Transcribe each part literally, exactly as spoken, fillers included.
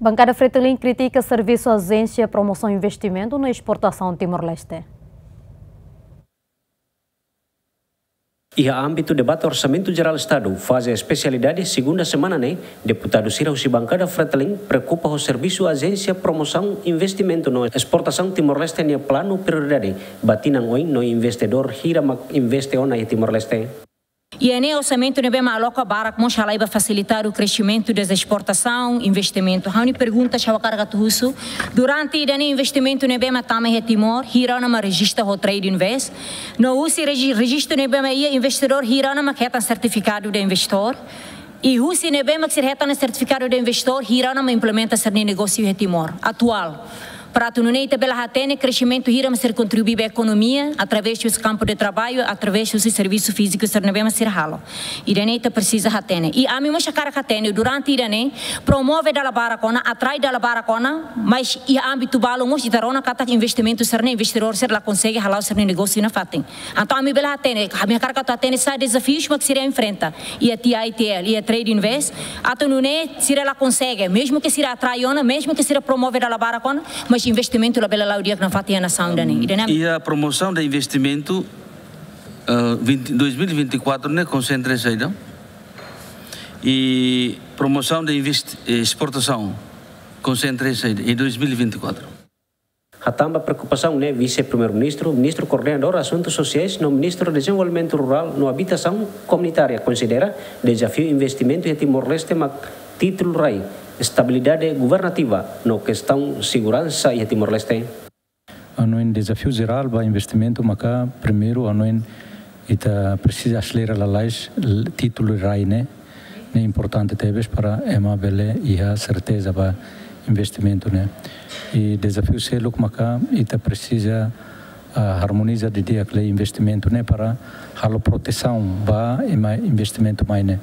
Bankada Fretilin kritika servisu Ajénsia Promosaun Investimentu no Esportasaun Timor-Leste. Iha ámbitu debate Orsamentu Jerál Estadu, faze espesialidade, segunda semana ne'e, deputadu sira husi bankada Fretilin preokupa ho servisu Ajénsia Promosaun Investimentu no Esportasaun Timor-Leste nia planu prioridade ba tinan oin no investidór hira mak investe ona iha Timor-Leste. Iha ne'e orsamentu ne'ebé mak aloka barak mós halai ba fasilitadu kresimentu deza esportasaun, investimentu. Ha'u-nia pergunta, ha'u hakarak atu husu, durante ida-ne'e investimentu ne'ebé mak tama iha Timor, hira ona mak rejista ho Trade Invest? No husi reji-, rejistu ne'ebé mak iha, investidór hira ona mak hetan sertifikadu de investidór? I husi ne'ebé mak sira hetan sertifikadu de investidór, hira ona mak implementa sira-nia negósiu iha Timor atuál? Para atu nune'e ita bele hatene kresimentu hira mak sira kontribui ba ekonomia, através husi kampu de traballu, através husi servisu fíziku sira ne'ebé mak sira halo. Ida-ne'e ita presiza hatene. I ami mós hakarak hatene, durante ida-ne'e, promove dala barak ona, atrai dala barak ona, mas iha ámbitu balu mós ita rona katak investimentu sira-ne'e, investidór sira la konsege hala'o sira-nia negósiu nafatin. Entaun ami bele hatene, ami hakarak atu hatene saida dezafius mak sira enfrenta iha T I T L, iha Trade Invest, atu nune'e sira la konsege, mezmu ke sira atrai ona, mezmu ke sira promove dala barak ona, mas investimentu labele la'o di'ak nafatin iha nasaun ida-ne'e. Ida-ne'e ami- Iha promosaun de investimentu, eh, vinte, dois mil e vinte e quatro ne'e konsentra saida? I promosaun de invest-, eh, esportasaun konsentra saida iha dois mil e vinte e quatro? Hatán ba preokupasaun ne'e, Vise-Primeiru-Ministru, Ministru Koordenadór Asuntus Sosiais no Ministru Dezenvolvimentu Rurál no Abitasaun Komunitária konsidera dezafiu investimentu iha Timor-Leste mak títulu rai, estabilidade governativa no kestaun seguransa iha Timor-Leste. Hanoin dezafiu jerál ba investimentu maka primeiru hanoin ita presiza aselera lalais l-, títulu rai ne'e, ne'e importante tebes para ema bele iha serteza ba investimentu ne'e. I dezafiu seluk maka ita presiza, ah, armoniza didi'ak lei investimentu ne'e para halo protesaun ba ema investimentu mai ne'e.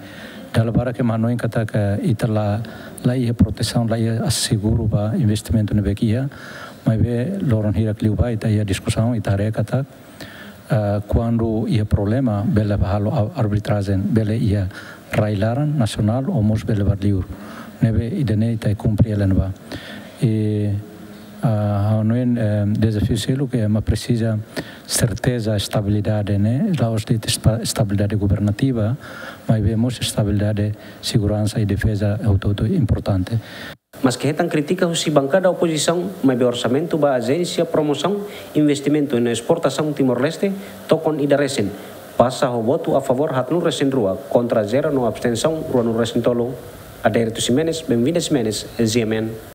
Dala barak ema hanoin katak ita la, la iha protesaun, la iha seguru ba investimentu ne'ebé ke iha, maibé loron hirak liubá ita iha diskusaun, ita haree katak, ah, kuandu iha problema, bele ba halo a-, arbitrajen, bele iha rai laran, nasionál, ou mós bele ba liur. Ne'ebé ida-ne'e ita kumpre hela ne'ebá. I, ah, hanoin, eh, dezafiu seluk mak presiza serteza estabilidade ne'e, la'ós de'it esta-, estabilidade governativa, maibé mós estabilidade, seguransa i defeza hotu-hotu importante. Maske hetan krítika husi bankada opozisaun, maibé orsamentu ba Ajénsia Promosaun Investimentu no Esportasaun Timor-Leste tokon ida resin, pasa ho votu a favór haatnulu resin rua, kontra zero no abstensaun ruanulu resin tolu. Adérito Ximenes, Benvinda Ximenes, G M N.